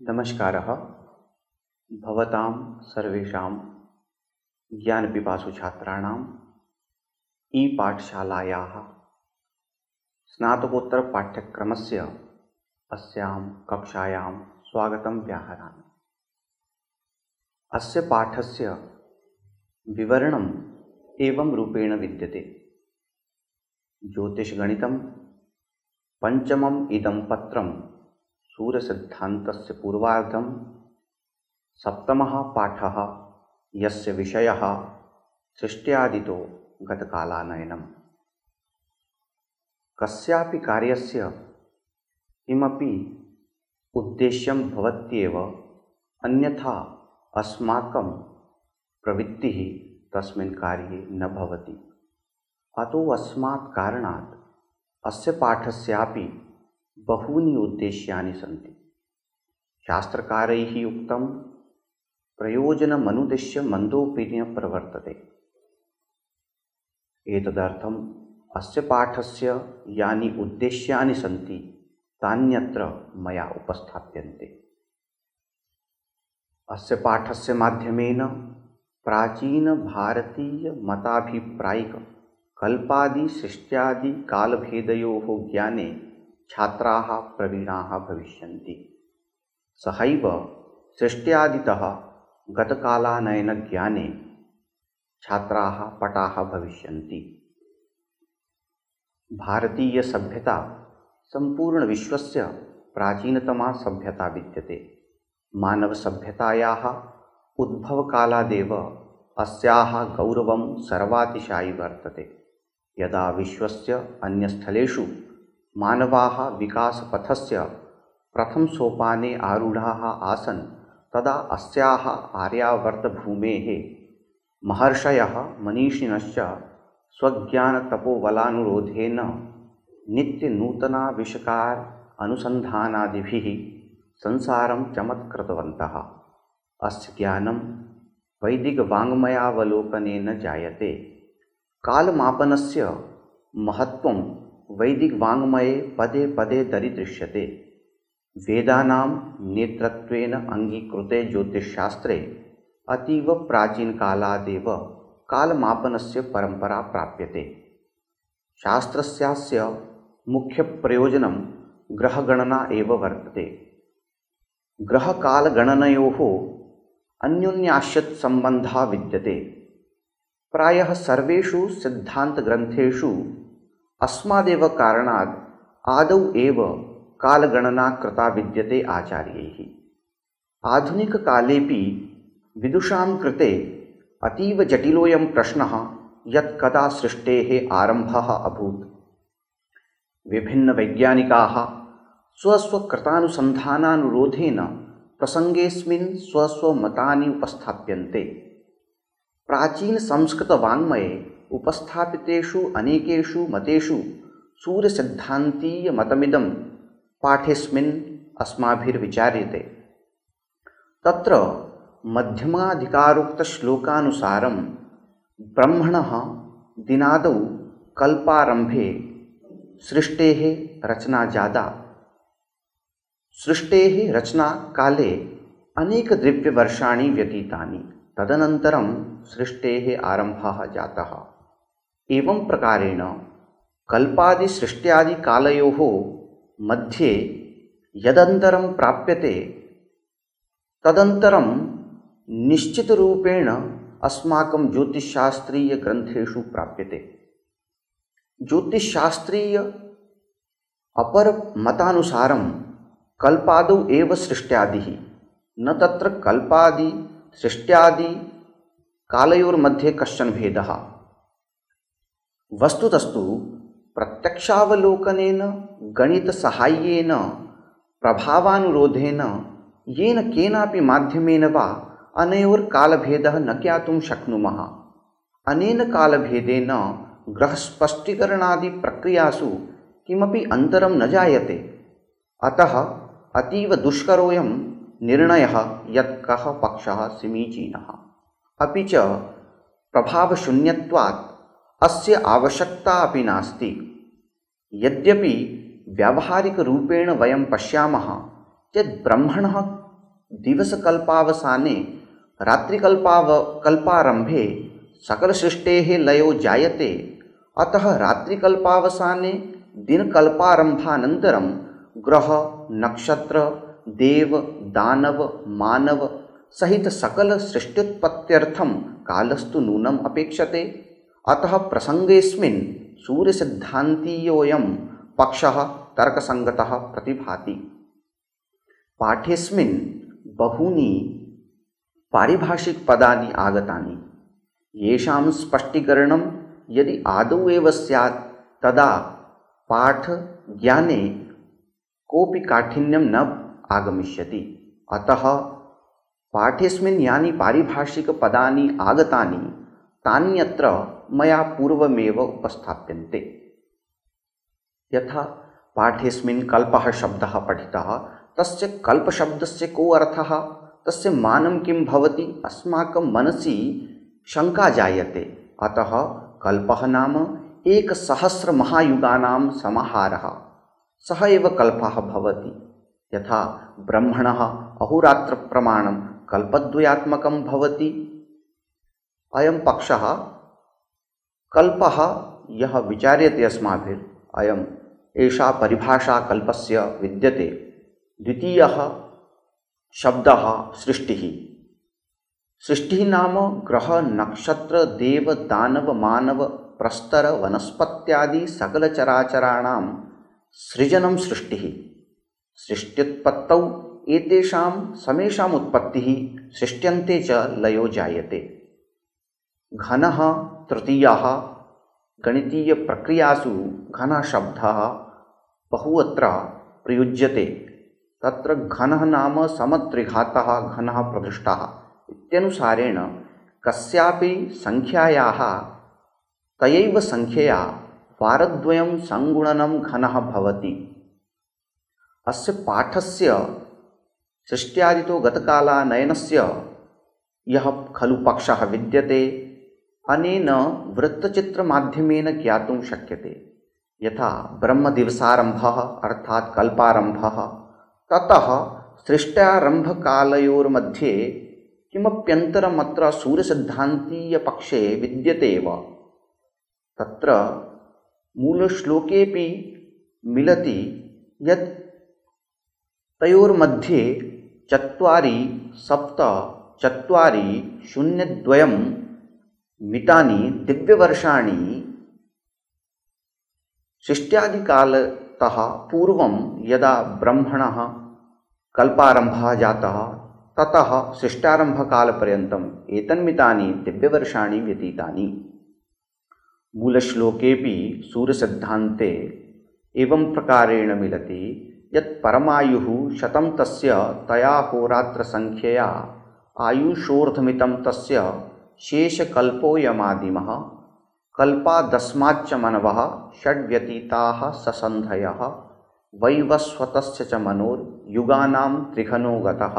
नमस्कारः। भवतां सर्वेषां ज्ञानपिपासु छात्राणां ई-पाठशालायाः स्नातकोत्तरपाठ्यक्रमस्य अस्यां कक्षायां स्वागतं व्याहरामि। अस्य पाठस्य विवरणम् एवं रूपेण विद्यते। ज्योतिषगणितं पञ्चमम् इदं पत्रं सूर्यसिद्धान्तस्य पूर्वार्धं सप्तमः पाठः यस्य विषयः सृष्ट्यादितो गतकालानयनम्। कस्यापि कार्यस्य किमपि उद्देश्यं भवत्येव, अन्यथा अस्माकं प्रवृत्तिः तस्मिन् कार्ये न भवति। अतो अस्मात् कारणात् अस्य पाठस्यापि बहूनि उद्देश्यानि सन्ति। शास्त्रकारैः उक्तं प्रयोजनमनुद्दिश्य मन्दोऽपि न प्रवर्तते। एतदर्थम् अस्य पाठस्य यानि उद्देश्यानि सन्ति तान्यत्र मया उपस्थाप्यन्ते। अस्य पाठस्य माध्यमेन प्राचीनभारतीयमताभिप्रायिक कल्पादि सृष्ट्यादि कालभेदयोः ज्ञाने छात्राः प्रवीणाः भविष्यन्ति। सहैव सृष्ट्यादितः गतकालानयनज्ञाने छात्राः पटाः भविष्यन्ति। भारतीयसभ्यता सम्पूर्णविश्वस्य प्राचीनतमा सभ्यता विद्यते। मानवसभ्यतायाः उद्भवकालादेव अस्याः गौरवं सर्वातिशायि वर्तते। यदा विश्वस्य अन्यस्थलेषु मानवाः विकासपथस्य प्रथमसोपाने आरूढाः आसन्, तदा अस्याः आर्यावर्तभूमेः महर्षयः मनीषिणश्च स्वज्ञानतपोबलानुरोधेन नित्यनूतनाविष्कार अनुसन्धानादिभिः संसारं चमत्कृतवन्तः। अस्य ज्ञानं वैदिकवाङ्मयावलोकनेन जायते। कालमापनस्य महत्त्वं वैदिकवाङ्मये पदे पदे दरीदृश्यते। वेदानां नेतृत्वेन अङ्गीकृते ज्योतिषशास्त्रे अतीव प्राचीनकालादेव कालमापनस्य परम्परा प्राप्यते। शास्त्रस्यास्य मुख्यप्रयोजनं ग्रहगणना एव वर्तते। ग्रहकालगणनयोः अन्योन्याश्रित सम्बन्धः विद्यते। प्रायः सर्वेषु सिद्धान्तग्रन्थेषु अस्मादेव कारणात् आदौ एव कालगणना कृता विद्यते आचार्यैः। आधुनिककालेपि विदुषां कृते अतीव जटिलोऽयं प्रश्नः यत् कदा सृष्टेः आरम्भः अभूत्। विभिन्नवैज्ञानिकाः स्वस्वकृतानुसन्धानानुरोधेन प्रसङ्गेऽस्मिन् स्वस्वमतानि उपस्थाप्यन्ते। प्राचीनसंस्कृतवाङ्मये उपस्थापितेषु अनेकेषु मतेषु सूर्यसिद्धान्तीयमतमिदं पाठेऽस्मिन् अस्माभिर्विचार्यते। तत्र मध्यमाधिकारोक्तश्लोकानुसारं ब्रह्मणः दिनादौ कल्पारम्भे सृष्टेः रचना जाता। सृष्टेः रचनाकाले अनेकदिव्यवर्षाणि व्यतीतानि। तदनन्तरं सृष्टेः आरम्भः जातः। एवं प्रकारेण कल्पादिसृष्ट्यादिकालयोः मध्ये यदन्तरं प्राप्यते तदन्तरं निश्चितरूपेण अस्माकं ज्योतिषशास्त्रीयग्रन्थेषु प्राप्यते। ज्योतिषशास्त्रीय अपरमतानुसारं कल्पादौ एव सृष्ट्यादिः, न तत्र कल्पादि सृष्ट्यादि कालयोर्मध्ये कश्चन भेदः। वस्तुतस्तु प्रत्यक्षावलोकनेन गणितसाहाय्येन प्रभावानुरोधेन येन केनापि माध्यमेन वा अनयोर्कालभेदः न ज्ञातुं शक्नुमः। अनेन कालभेदेन ग्रहस्पष्टीकरणादिप्रक्रियासु किमपि अन्तरं न जायते। अतः अतीव दुष्करोऽयं निर्णयः यत् कः पक्षः समीचीनः। अपि च प्रभावशून्यत्वात् अस्य आवश्यकता अपि नास्ति। यद्यपि व्यावहारिकरूपेण वयं पश्यामः चेत् ब्रह्मणः दिवसकल्पावसाने रात्रिकल्पारम्भे सकलसृष्टेः लयो जायते। अतः रात्रिकल्पावसाने दिनकल्पारम्भानन्तरं ग्रह नक्षत्र देव दानव मानव सहित सकल सृष्ट्युत्पत्त्यर्थं कालस्तु नूनम् अपेक्षते। अतः प्रसङ्गेऽस्मिन् सूर्यसिद्धान्तीयोऽयं पक्षः तर्कसङ्गतः प्रतिभाति। पाठेऽस्मिन् बहूनि पारिभाषिकपदानि आगतानि, येषां स्पष्टीकरणं यदि आदौ एव स्यात् तदा पाठज्ञाने कोऽपि काठिन्यं न आगमिष्यति। अतः पाठेऽस्मिन् यानि पारिभाषिकपदानि आगतानि तान्यत्र मया पूर्वमेव उपस्थाप्यन्ते। यथा पाठेऽस्मिन् कल्पः शब्दः पठितः, तस्य कल्पशब्दस्य को अर्थः, तस्य मानं किं भवति, अस्माकं मनसि शङ्का जायते। अतः कल्पः नाम 1,000 महायुगानां समाहारः, सः एव कल्पः भवति। यथा ब्रह्मणः अहोरात्रप्रमाणं कल्पद्वयात्मकं भवति। अयं पक्षः कल्पः यः विचार्यते अस्माभिः, एषा परिभाषा कल्पस्य विद्यते। द्वितीयः शब्दः सृष्टिः। सृष्टिः नाम ग्रह नक्षत्र देव दानव मानव प्रस्तर वनस्पत्यादि सकलचराचराणां सृजनं सृष्टिः। सृष्ट्युत्पत्तौ एतेषां समेषाम् उत्पत्तिः, सृष्ट्यन्ते च लयो जायते। घनः तृतीयः। गणितीयप्रक्रियासु घनः शब्दः बहुत्र प्रयुज्यते। तत्र घनः नाम समत्रिघातः घनः प्रदृष्टः इत्यनुसारेण कस्यापि संख्यायाः तयैव संख्यया वारद्वयं संगुणनं घनः भवति। अस्य पाठस्य सृष्ट्यादितो गतकालानयनस्य यः खलु पक्षः विद्यते, अनेन वृत्तचित्रमाध्यमेन ज्ञातुं शक्यते। यथा ब्रह्मदिवसारम्भः अर्थात् कल्पारम्भः, ततः सृष्ट्यारम्भकालयोर्मध्ये किमप्यन्तरमत्र सूर्यसिद्धान्तीयपक्षे विद्यते एव। तत्र मूलश्लोकेऽपि मिलति यत् तयोर्मध्ये 4 7 4 0 2 मितानि दिव्यवर्षाणि सृष्ट्यादिकालतः पूर्वं यदा ब्रह्मणः कल्पारम्भः जातः ततः सृष्ट्यारम्भकालपर्यन्तम् एतन्मितानि दिव्यवर्षाणि व्यतीतानि। मूलश्लोकेऽपि सूर्यसिद्धान्ते एवं प्रकारेण मिलति यत् परमायुः 100 तस्य तया होरात्रसंख्यया आयुषोर्ध्वमितं तस्य शेषकल्पोऽयमादिमः कल्पादस्माच्च मनवः षड्व्यतीताः ससन्धयः वैवस्वतस्य च मनोर्युगानां त्रिघनो गतः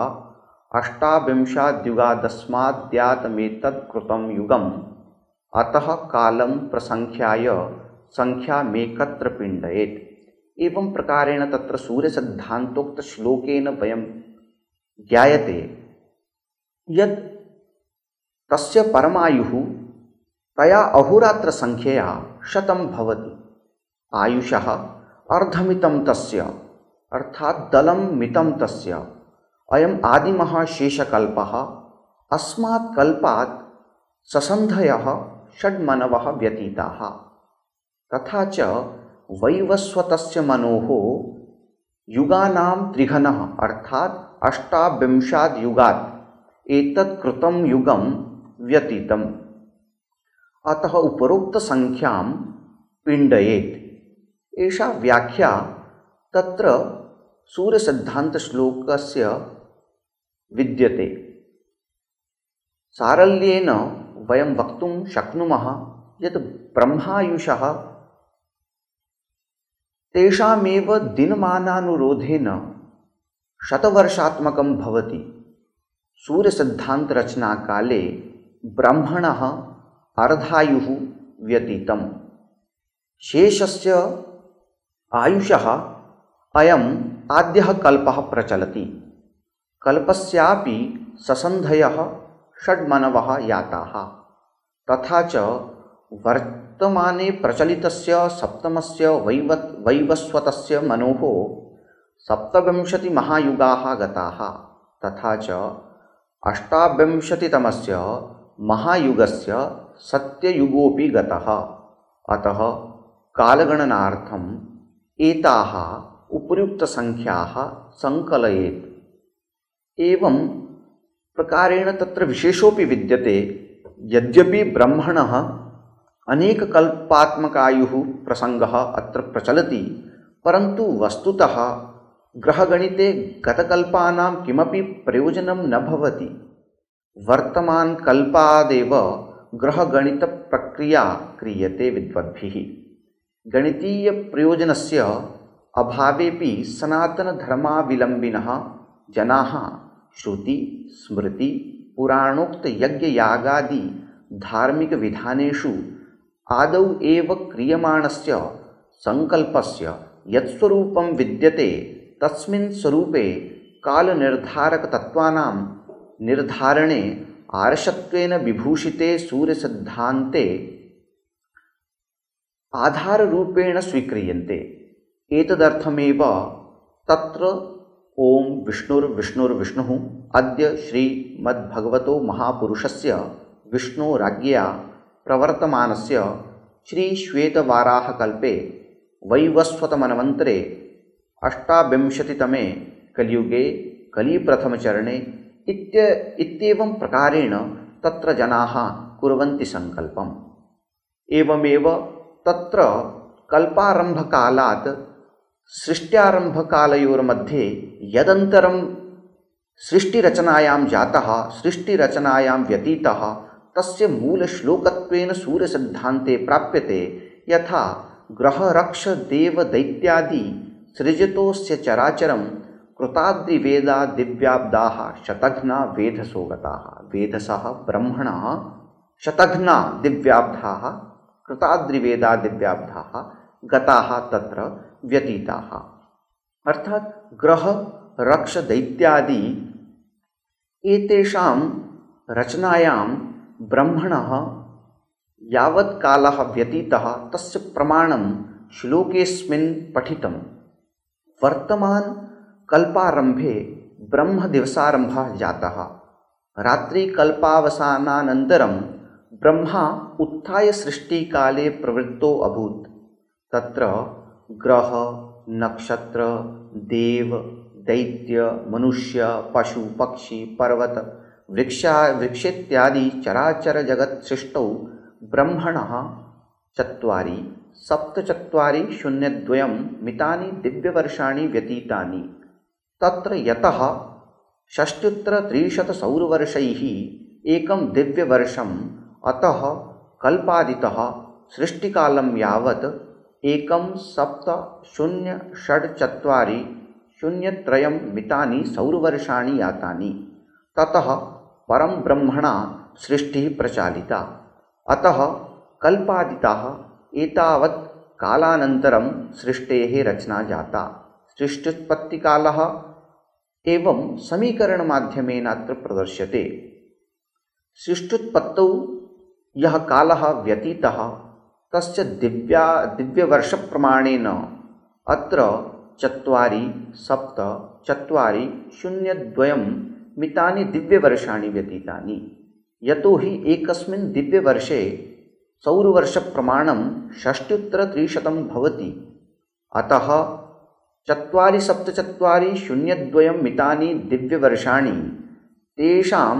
अष्टाविंशाद्युगादस्माद्यातमेतत्कृतं युगम् अतः कालं प्रसंख्याय संख्यामेकत्र पिण्डयेत्। एवं प्रकारेण तत्र सूर्यसिद्धान्तोक्तश्लोकेन वयं ज्ञायते यत् तस्य परमायुः तया अहोरात्रसंख्यया 100 भवति। आयुषः अर्धमितं तस्य अर्थात् दलं मितं तस्य अयम् आदिमः शेषकल्पः। अस्मात् कल्पात् ससन्धयः षड्मनवः व्यतीताः। तथा च वैवस्वतस्य मनोः युगानां त्रिघनः अर्थात् 28 युगात् एतत् कृतं युगं व्यतीतम्। अतः उपरोक्तसंख्यां पिण्डयेत्। एषा व्याख्या तत्र सूर्यसिद्धान्तश्लोकस्य विद्यते। सारल्येन वयं वक्तुं शक्नुमः यत् ब्रह्मायुषः तेषामेव दिनमानानुरोधेन 100 वर्षात्मकं भवति। सूर्यसिद्धान्तरचनाकाले ब्रह्मणः अर्धायुः व्यतीतं। शेषस्य आयुषः अयम् आद्यः कल्पः प्रचलति। कल्पस्यापि ससन्धयः षड्मनवः याताः। तथा च वर्तमाने प्रचलितस्य सप्तमस्य वैवस्वतस्य मनोः सप्तविंशतिमहायुगाः गताः। तथा च अष्टाविंशतितमस्य महायुगस्य सत्ययुगोऽपि गतः। अतः कालगणनार्थम् एताः उपर्युक्तसङ्ख्याः सङ्कलयेत्। एवं प्रकारेण तत्र विशेषोऽपि विद्यते। यद्यपि ब्रह्मणः अनेककल्पात्मकायुः प्रसङ्गः अत्र प्रचलति, परन्तु वस्तुतः ग्रहगणिते गतकल्पानां किमपि प्रयोजनं न भवति। वर्तमानकल्पादेव ग्रहगणितप्रक्रिया क्रियते विद्वद्भिः। गणितीयप्रयोजनस्य अभावेपि सनातनधर्मावलम्बिनः जनाः श्रुति स्मृति पुराणोक्तयज्ञयागादि धार्मिकविधानेषु आदौ एव क्रियमाणस्य सङ्कल्पस्य यत्स्वरूपं विद्यते तस्मिन् स्वरूपे कालनिर्धारकतत्त्वानां निर्धारणे आर्षत्वेन विभूषिते सूर्यसिद्धान्ते आधाररूपेण स्वीक्रियन्ते। एतदर्थमेव तत्र ओं विष्णुर्विष्णुर्विष्णुः अद्य श्रीमद्भगवतो महापुरुषस्य विष्णोराज्ञया प्रवर्तमानस्य श्रीश्वेतवाराहकल्पे वैवस्वतमन्वन्तरे अष्टाविंशतितमे कलियुगे कलिप्रथमचरणे इत्येवं प्रकारेण तत्र जनाः कुर्वन्ति सङ्कल्पम्। एवमेव तत्र कल्पारम्भकालात् सृष्ट्यारम्भकालयोर्मध्ये यदन्तरं सृष्टिरचनायां जातः, सृष्टिरचनायां व्यतीतः, तस्य मूलश्लोकत्वेन सूर्यसिद्धान्ते प्राप्यते। यथा ग्रहरक्षदेवदैत्यादि सृजतोऽस्य चराचरं कृताद्रिवेदा दिव्याब्दाः शतघ्ना वेधसो गताः। वेधसः ब्रह्मणः शतघ्ना दिव्याब्धाः कृताद्रिवेदा दिव्याब्धाः गताः तत्र व्यतीताः। अर्थात् ग्रह रक्ष दैत्यादि एतेषां रचनायां ब्रह्मणः यावत् कालः व्यतीतः तस्य प्रमाणं श्लोकेऽस्मिन् पठितं। वर्तमान कल्पारम्भे ब्रह्मदिवसारम्भः जातः। रात्रिकल्पावसानानन्तरं ब्रह्मा उत्थाय सृष्टिकाले प्रवृत्तो अभूत्। तत्र ग्रह नक्षत्र देव दैत्य मनुष्य पशु पक्षी पर्वत वृक्षेत्यादि चराचर जगत् सृष्टौ ब्रह्मणः 4 सप्तचत्वारि 02 मितानि दिव्यवर्षाणि व्यतीतानि। तत्र यतः 6,300 सौरवर्षैः एकं दिव्यवर्षम्, अतः कल्पादितः सृष्टिकालं यावत् 1,7,0,6,4,03 मितानि सौरवर्षाणि यातानि। ततः परं ब्रह्मणा सृष्टिः प्रचालिता। अतः कल्पादिताः एतावत् कालानन्तरं सृष्टेः रचना जाता। सृष्टुत्पत्तिकालः एवं समीकरणमाध्यमेन अत्र प्रदर्श्यते। सृष्टुत्पत्तौ यः कालः व्यतीतः तस्य दिव्यवर्षप्रमाणेन अत्र 4,7,4,02 मितानि दिव्यवर्षाणि व्यतीतानि। यतोहि एकस्मिन् दिव्यवर्षे सौरवर्षप्रमाणं 6,300 भवति। अतः 4,7,4,02 मितानि दिव्यवर्षाणि तेषां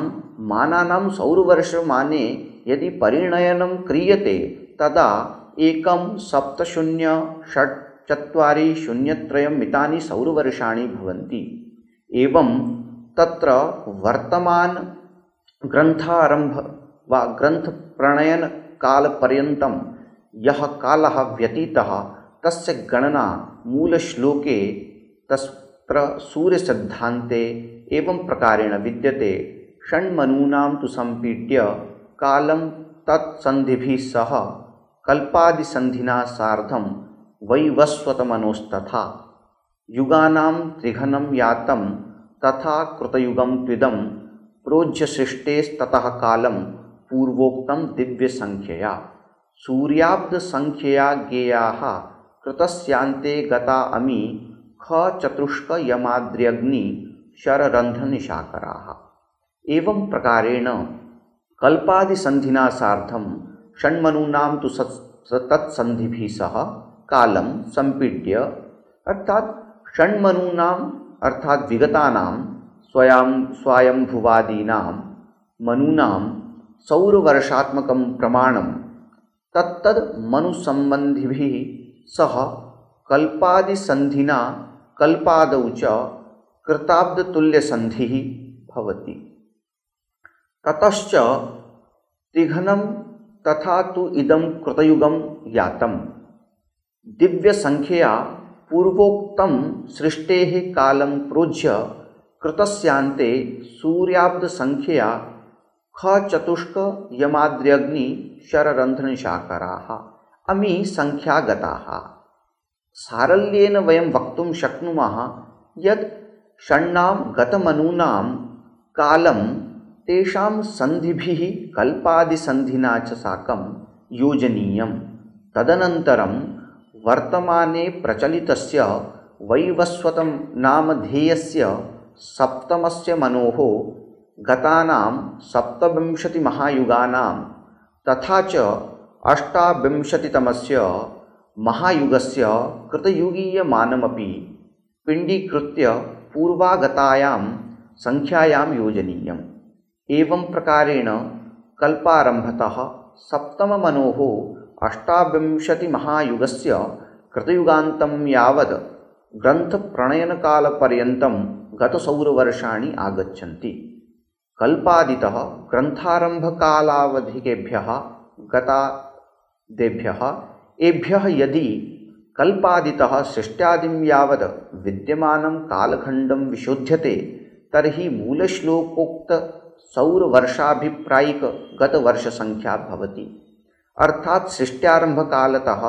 मानानां सौरवर्षमाने यदि परिणयनं क्रियते तदा 1,7,0,6,4,03 मितानि सौरवर्षाणि भवन्ति। एवं तत्र वर्तमान ग्रन्थारम्भ वा ग्रन्थप्रणयनकालपर्यन्तं यः कालः व्यतीतः तस्य गणना मूलश्लोके तत्र सूर्यसिद्धान्ते एवं प्रकारेण विद्यते। षण्मनूनां तु सम्पीड्य कालं तत्सन्धिभिः सह कल्पादिसन्धिना सार्धं वैवस्वतमनोस्तथा युगानां त्रिघनं यातं तथा कृतयुगं त्विदं प्रोज्य सृष्टेस्ततः कालं पूर्वोक्तं दिव्यसंख्यया सूर्याब्दसंख्यया ज्ञेयाः कृतस्यान्ते गता अमी ख चतुष्क यमाद्र्यग्नि शररन्ध्रनिशाकराः। एवं प्रकारेण कल्पादिसन्धिना सार्धं षण्मनूनां तु तत्सन्धिभिः सह कालं संपीड्य, अर्थात षण्मनूनां अर्थात विगतानां स्वायंभुवादीनां मनूनां सौरवर्षात्मकं प्रमाणं तत्तद् मनुसंबन्धिभिः सह कल्पादिसन्धिना कल्पादौ च कृताब्दतुल्यसन्धिः भवति। ततश्च तिघ्नं तथा तु इदं कृतयुगं यातं दिव्यसंख्यया पूर्वोक्तं सृष्टेः कालं प्रोज्य कृतस्यान्ते सूर्याब्दसंख्यया ख चतुष्क यमाद्र्यग्नि शररन्ध्रनिशाकराः अमी संख्यागताः। सारल्येन वयं वक्तुं शक्नुमः यत् षण्णां गतमनूनां कालं तेषां सन्धिभिः कल्पादिसन्धिना च साकं योजनीयं। तदनन्तरं वर्तमाने प्रचलितस्य वैवस्वतं नामधेयस्य सप्तमस्य मनोः गतानां 27 महायुगानां तथा च 28तमस्य महायुगस्य कृतयुगीयमानमपि पिण्डीकृत्य पूर्वागतायां संख्यायां योजनीयम्। एवं प्रकारेण कल्पारम्भतः सप्तममनोः 28 महायुगस्य कृतयुगान्तं यावद् ग्रन्थप्रणयनकालपर्यन्तं गतसौरवर्षाणि आगच्छन्ति। कल्पादितः ग्रन्थारम्भकालावधिकेभ्यः गतादेभ्यः एभ्यः यदि कल्पादितः सृष्ट्यादिं यावद् विद्यमानं कालखण्डं विशोध्यते तर्हि मूलश्लोकोक्तसौरवर्षाभिप्रायिक गतवर्षसंख्या भवति। अर्थात् सृष्ट्यारम्भकालतः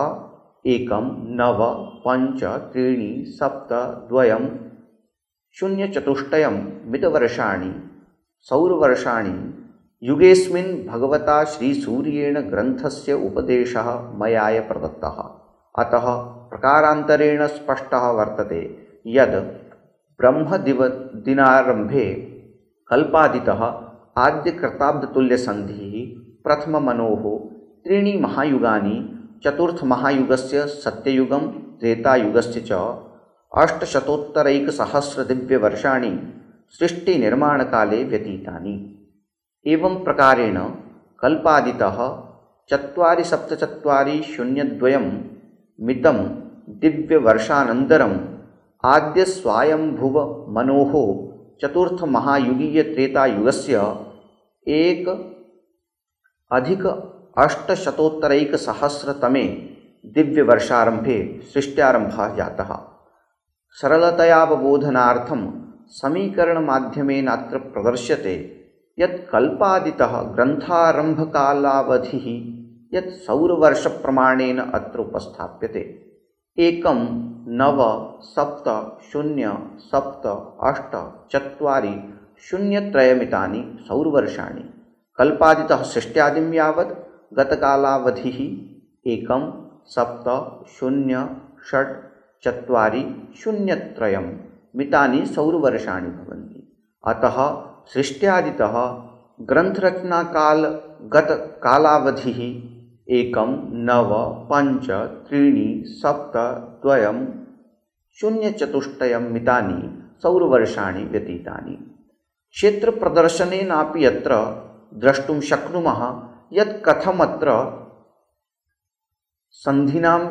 1, 9, 5, 3, 7, 2, 0 चतुष्टयं मितवर्षाणि सौरवर्षाणि युगेस्मिन् भगवता श्रीसूर्येण ग्रन्थस्य उपदेशः मयाय प्रदत्तः। अतः प्रकारान्तरेण स्पष्टः वर्तते यद् ब्रह्मदिनारम्भे कल्पादितः आद्यकृताब्दतुल्यसन्धिः प्रथममनोः 3 महायुगानि चतुर्थमहायुगस्य सत्ययुगं त्रेतायुगस्य च 800 दिव्यवर्षाणि सृष्टिनिर्माणकाले व्यतीतानि। एवं प्रकारेण कल्पादितः 4740 मितं दिव्यवर्षानन्तरम् आद्यस्वायंभुव मनोः चतुर्थमहायुगीयत्रेतायुगस्य 1+800तमे दिव्यवर्षारम्भे सृष्ट्यारम्भः जातः। सरलतयावबोधनार्थं समीकरणमाध्यमेन अत्र प्रदर्श्यते यत् कल्पादितः ग्रन्थारम्भकालावधिः यत् सौरवर्षप्रमाणेन अत्र उपस्थाप्यते 1, 9, 7, 0, 7, 8, 4, 0, 3 मितानि सौरवर्षाणि। कल्पादितः सृष्ट्यादिं यावत् गतकालावधिः 1, 7, 0, 6, 4, 0, 3 मितानि सौरवर्षाणि भवन्ति। अतः सृष्ट्यादितः ग्रन्थरचनाकालगतकालावधिः 1, 9, 5, 3, 7, 2, 0 चतुष्टयं मितानि सौरवर्षाणि व्यतीतानि। क्षेत्रप्रदर्शनेनापि अत्र द्रष्टुं शक्नुमः यत् कथमत्र सन्धिनां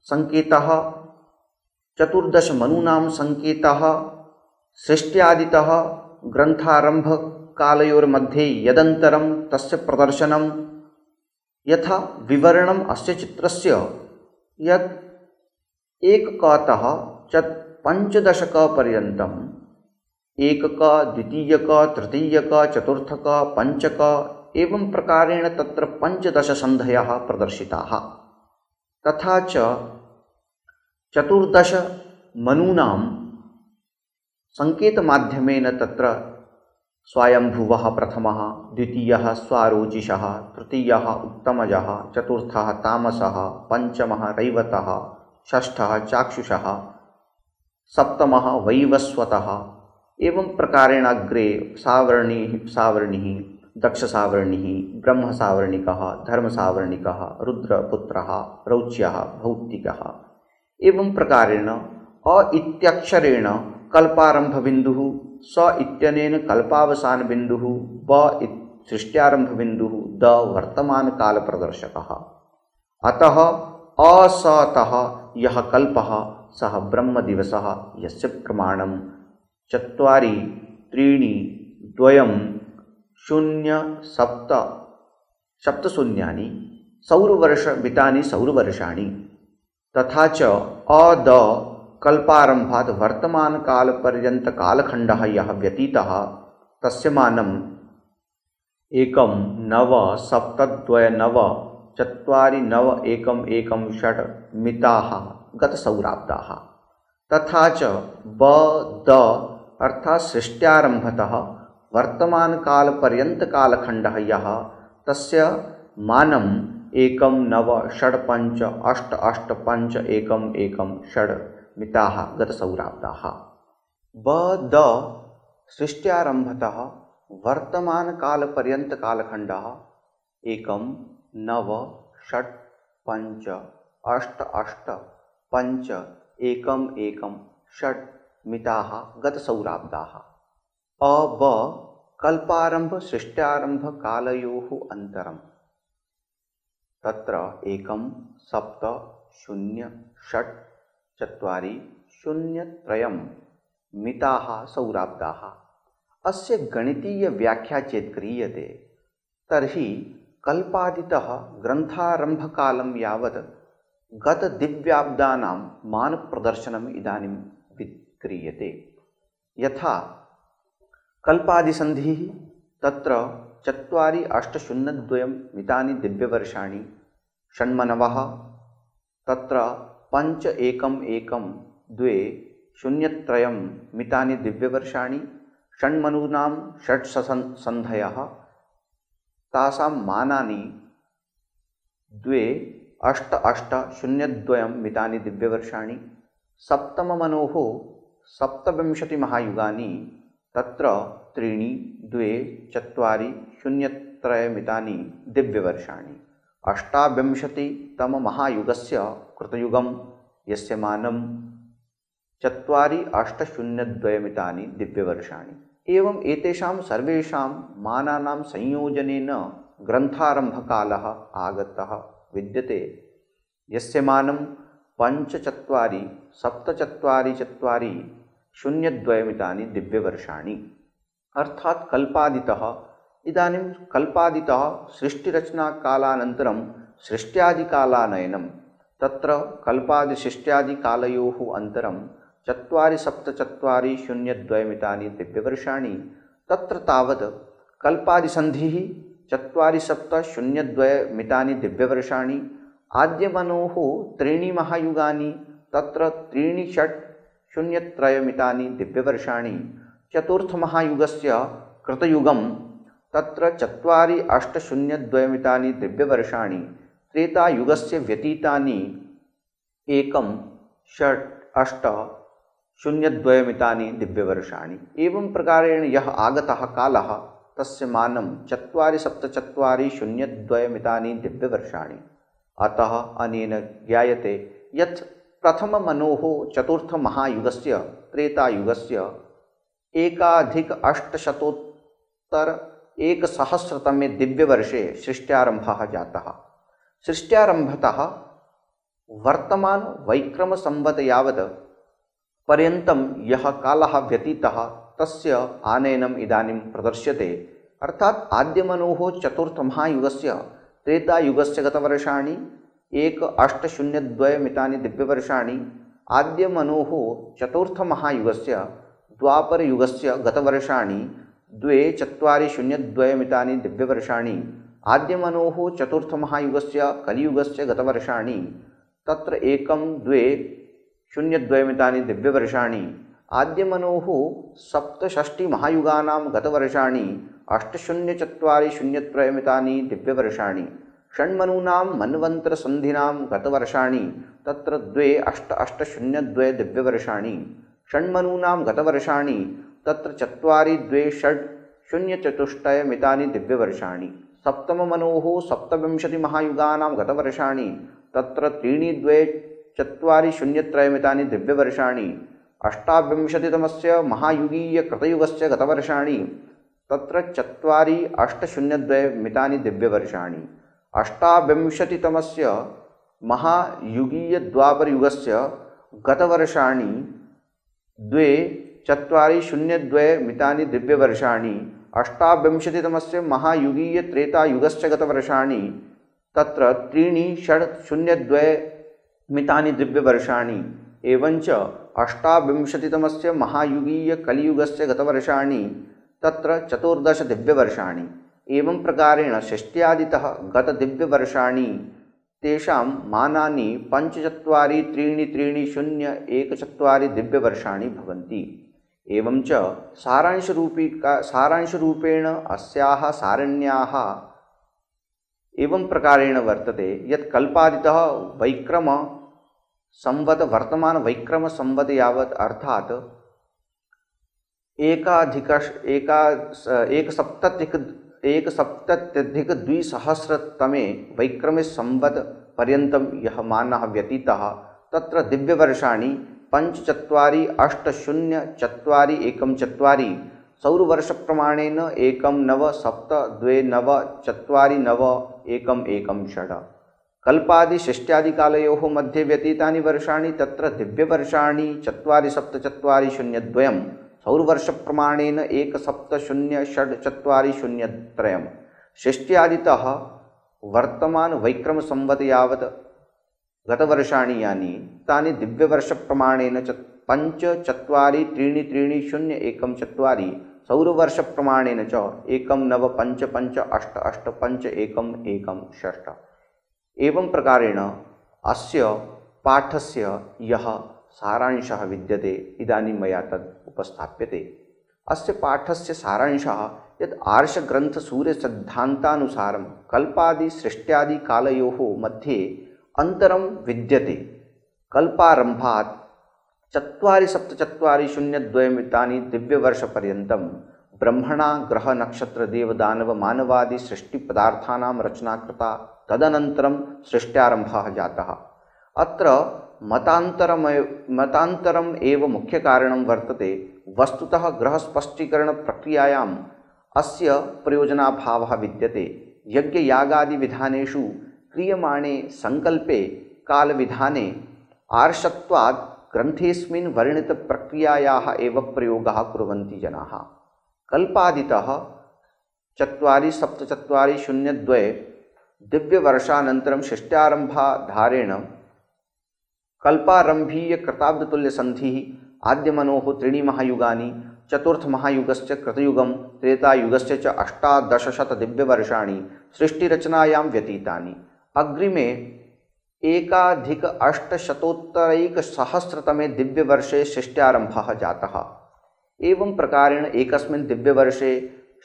सङ्केतः 14 मनूनां सङ्केतः सृष्ट्यादितः ग्रन्थारम्भकालयोर्मध्ये यदन्तरं तस्य प्रदर्शनं यथा विवरणम् अस्य चित्रस्य यत् 1कतः 15क पर्यन्तं 1क, 2क, 3क, 4क, 5क एवं प्रकारेण तत्र 15 सन्धयः प्रदर्शिताः। तथा च 14 मनूनां सङ्केतमाध्यमेन तत्र स्वायम्भुवः प्रथमः, द्वितीयः स्वारोचिषः, तृतीयः उत्तमजः, चतुर्थः तामसः, पञ्चमः रैवतः, षष्ठः चाक्षुषः, सप्तमः वैवस्वतः। एवं प्रकारेण अग्रे सावर्णिः, दक्षसावर्णिः, ब्रह्मसावर्णिकः, धर्मसावर्णिकः, रुद्रपुत्रः, रौच्यः, भौतिकः। एवं प्रकारेण अ इत्यक्षरेण कल्पारम्भबिन्दुः, स इत्यनेन कल्पावसानबिन्दुः, ब सृष्ट्यारम्भबिन्दुः, द वर्तमानकालप्रदर्शकः। अतः असतः यः कल्पः सः ब्रह्मदिवसः, यस्य प्रमाणं 4 3 2 0 7 सप्तशून्यानि सौरवर्षमितानि सौरवर्षाणि। तथा च अद कल्पारम्भात् वर्तमानकालपर्यन्तकालखण्डः यः व्यतीतः तस्य मानं 1 9 7 2 9 4 9 1 1 6 मिताः गतसौराब्दाः। तथा च द अर्थात् सृष्ट्यारम्भतः वर्तमानकालपर्यन्तकालखण्डः यः तस्य मानं 1 9 6 5 8 8 5 1 1 6 मिताः गतसौराब्दाः। द सृष्ट्यारम्भतः वर्तमानकालपर्यन्तकालखण्डः 1 9 6 5 8 8 5 1 1 6 मिताः गतसौराब्दाः। अब कल्पारम्भ सृष्ट्यारम्भकालयोः अन्तरम् तत्र 1 7 0 6 4 0 3 मिताः सौराब्दाः। अस्य गणितीयव्याख्या चेत् क्रियते तर्हि कल्पादितः ग्रन्थारम्भकालं यावत् गतदिव्याब्दानां मानप्रदर्शनम् इदानीं क्रियते। यथा कल्पादिसन्धिः तत्र 4 8 0 2 मितानि दिव्यवर्षाणि, षण्मनवः तत्र 5 1 1 2 0 3 मितानि दिव्यवर्षाणि, षण्मनूनां षट्सन्धयः तासां मानानि 2 8 8 0 2 मितानि दिव्यवर्षाणि, सप्तममनोः 27 महायुगानि तत्र 3 2 4 0 3 मितानि दिव्यवर्षाणि, 28तममहायुगस्य कृतयुगं यस्य मानं 4 8 0 2 मितानि दिव्यवर्षाणि। एवं एतेषां सर्वेषां मानानां संयोजनेन ग्रन्थारम्भकालः आगतः विद्यते, यस्य मानं 5 4 7 4 4 0 2 मितानि दिव्यवर्षाणि। अर्थात् कल्पादितः इदानीं कल्पादितः सृष्टिरचनाकालानन्तरं सृष्ट्यादिकालानयनं, तत्र कल्पादिसृष्ट्यादिकालयोः अन्तरं 4 7 4 0 2 मितानि दिव्यवर्षाणि। तत्र तावत् कल्पादिसन्धिः 4 7 0 2 मितानि दिव्यवर्षाणि, आद्यमनोः 3 महायुगानि तत्र 3 6 0 3 मितानि दिव्यवर्षाणि, चतुर्थमहायुगस्य कृतयुगं तत्र 4 8 0 2 मितानि दिव्यवर्षाणि, त्रेतायुगस्य व्यतीतानि 1 6 8 0 2 मितानि दिव्यवर्षाणि। एवं प्रकारेण यः आगतः कालः तस्य मानं 4 7 4 0 2 मितानि दिव्यवर्षाणि। अतः अनेन ज्ञायते यत् प्रथममनोः चतुर्थमहायुगस्य त्रेतायुगस्य 1,800 दिव्यवर्षे सृष्ट्यारम्भः जातः। सृष्ट्यारम्भतः वर्तमान वैक्रमसंवत् यावत् पर्यन्तं यः कालः व्यतीतः तस्य आनयनम् इदानीं प्रदर्श्यते। अर्थात् आद्यमनोः चतुर्थमहायुगस्य त्रेतायुगस्य गतवर्षाणि 1,802 मितानि दिव्यवर्षाणि, आद्यमनोः चतुर्थमहायुगस्य द्वापरयुगस्य गतवर्षाणि 2,402 मितानि दिव्यवर्षाणि, आद्यमनोः चतुर्थमहायुगस्य कलियुगस्य गतवर्षाणि तत्र 1,202 मितानि दिव्यवर्षाणि, आद्यमनोः सप्तषष्टिमहायुगानां गतवर्षाणि 804003 दिव्यवर्षाणि। षण्मनूनां मन्वन्तरसन्धिनां गतवर्षाणि तत्र 2882 दिव्यवर्षाणि। षण्मनूनां गतवर्षाणि तत्र 4226 दिव्यवर्षाणि। सप्तममनोः सप्तविंशतिमहायुगानां गतवर्षाणि तत्र 3240 दिव्यवर्षाणि। अष्टाविंशतितमस्य महायुगीयकृतयुगस्य गतवर्षाणि तत्र 4802 दिव्यवर्षाणि। अष्टाविंशतितमस्य महायुगीयद्वापरयुगस्य गतवर्षाणि 2402 दिव्यवर्षाणि। अष्टाविंशतितमस्य महायुगीयत्रेतायुगस्य गतवर्षाणि तत्र 3602 दिव्यवर्षाणि। एवञ्च अष्टाविंशतितमस्य महायुगीयकलियुगस्य गतवर्षाणि तत्र 14 दिव्यवर्षाणि। एवं प्रकारेण षष्ट्यादितः गतदिव्यवर्षाणि तेषां मानानि 5433014 दिव्यवर्षाणि भवन्ति। एवञ्च सारांशरूपेण अस्याः सारण्याः एवं प्रकारेण वर्तते यत् कल्पादितः वैक्रम संवत वर्तमान वैक्रम संवत यावत् अर्थात एकसप्तत्यधिक-द्विसहस्रतमे वैक्रमे संवत पर्यन्तं यः मानः व्यतीतः तत्र दिव्यवर्षाणि 5480414 सौरवर्षप्रमाणेन 1997294116 कल्पादिषष्ट्यादिकालयोः मध्ये व्यतीतानि वर्षाणि तत्र दिव्यवर्षाणि 474002 सौरवर्षप्रमाणेन 17064003 षष्ट्यादितः वर्तमान वैक्रम संवत यावत् गतवर्षाणि यानि तानि दिव्यवर्षप्रमाणेन 5433014 सौरवर्षप्रमाणेन च 1955885116 एवं प्रकारेण अस्य पाठस्य यः सारांशः विद्यते इदानीं मया तद् उपस्थाप्यते। अस्य पाठस्य सारांशः यत् आर्षग्रन्थसूर्यसिद्धान्तानुसारं कल्पादिसृष्ट्यादिकालयोः मध्ये अन्तरं विद्यते। कल्पारम्भात् 474002 दिव्यवर्षपर्यन्तं ब्रह्मणा ग्रहनक्षत्रदेवदानवमानवादि सृष्टिपदार्थानां रचना कृता। तदनन्तरं सृष्ट्यारम्भः जातः। अत्र मतान्तरम् एव मुख्यकारणं वर्तते। वस्तुतः ग्रहस्पष्टीकरणप्रक्रियायाम् अस्य प्रयोजनाभावः विद्यते। यज्ञयागादिविधानेषु क्रियमाणे संकल्पे कालविधाने आर्षत्वात् ग्रन्थेऽस्मिन् वर्णितप्रक्रियायाः एव प्रयोगः कुर्वन्ति जनाः। कल्पादितः 474002 दिव्यवर्षानन्तरं षष्ट्यारम्भाधारेण कल्पारम्भीयकृताब्दतुल्यसन्धिः आद्यमनोः त्रीणि महायुगानि चतुर्थमहायुगस्य कृतयुगं त्रेतायुगस्य च 1800 दिव्यवर्षाणि सृष्टिरचनायां व्यतीतानि। अग्रिमे 1800 दिव्यवर्षे षष्ट्यारम्भः जातः। एवं प्रकारेण एकस्मिन् दिव्यवर्षे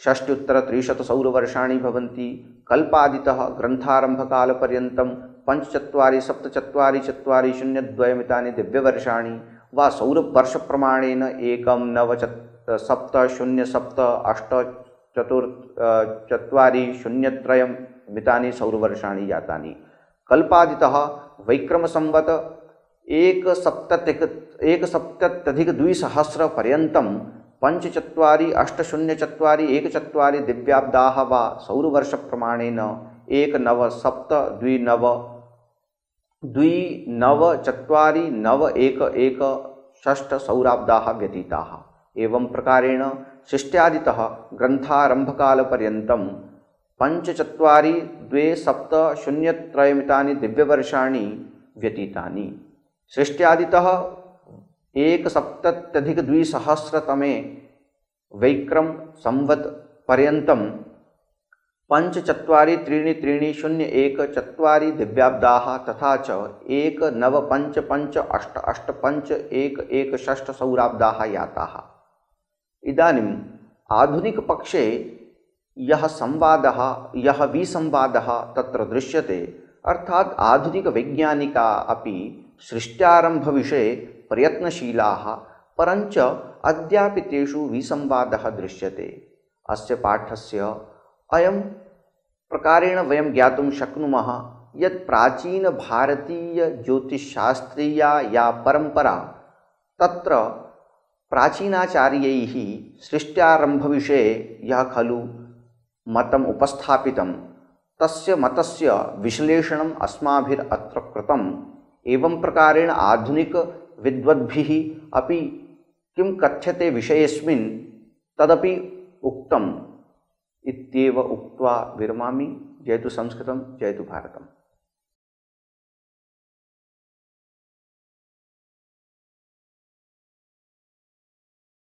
60-300 सौरवर्षाणि भवन्ति। कल्पादितः ग्रन्थारम्भकालपर्यन्तं 5474002 दिव्यवर्षाणि वा सौरवर्षप्रमाणेन 19978403 सौरवर्षाणि जातानि। कल्पादितः वैक्रमसंवत 170-200 पर्यन्तं 5480414 दिव्याब्दाः वा सौरवर्षप्रमाणेन 1997299411 सौराब्दाः व्यतीताः। एवं प्रकारेण षष्ट्यादितः ग्रन्थारम्भकालपर्यन्तं 54270 दिव्यवर्षाणि व्यतीतानि। षष्ट्यादितः 170-200 वैक्रम संवत पर्यन्तं 5433014 दिव्याब्दाः तथा च 1955885116 सौराब्दाः याताः। इदानीम् आधुनिकपक्षे यः विसंवादः तत्र दृश्यते, अर्थात् आधुनिकवैज्ञानिका अपि सृष्ट्यारम्भविषये प्रयत्नशीलाः, परञ्च अद्यापि तेषु विसंवादः दृश्यते। अस्य पाठस्य अयं प्रकारेण वयं ज्ञातुं शक्नुमः यत् प्राचीनभारतीयज्योतिषशास्त्रीया या परम्परा, तत्र प्राचीनाचार्यैः सृष्ट्यारम्भविषये यः खलु मतम् उपस्थापितं, तस्य मतस्य विश्लेषणम् अस्माभिरत्र कृतम्। एवं प्रकारेण आधुनिकविद्वद्भिः अपि किं कथ्यते विषयेऽस्मिन् तदपि उक्तम् इत्येव उक्त्वा विरमामि। जयतु संस्कृतं, जयतु भारतम्।